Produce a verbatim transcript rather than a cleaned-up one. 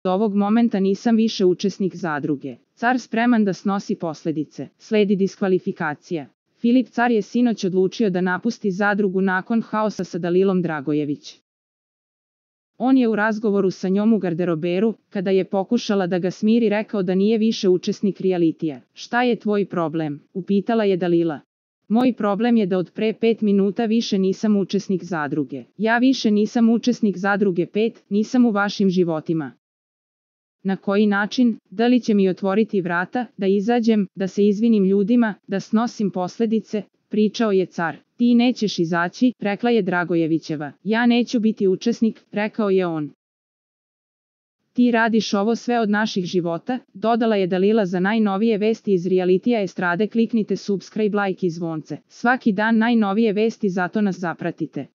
ovog momenta nisam više učesnik zadruge. Car spreman da snosi posljedice. Sledi diskvalifikacija. Filip Car je sinoć odlučio da napusti zadrugu nakon haosa sa Dalilom Dragojević. On je u razgovoru sa njom u garderoberu, kada je pokušala da ga smiri, rekao da nije više učesnik realitija. Šta je tvoj problem? Upitala je Dalila. Moj problem je da od pre pet minuta više nisam učesnik zadruge. Ja više nisam učesnik zadruge pet, nisam u vašim životima. Na koji način? Da li će mi otvoriti vrata, da izađem, da se izvinim ljudima, da snosim posljedice? Pričao je Car. Ti nećeš izaći, rekla je Dragojevićeva. Ja neću biti učesnik, rekao je on. Ti radiš ovo sve od naših života, dodala je Dalila. Za najnovije vesti iz realitija estrade kliknite subscribe, like i zvonce. Svaki dan najnovije vesti, zato nas zapratite.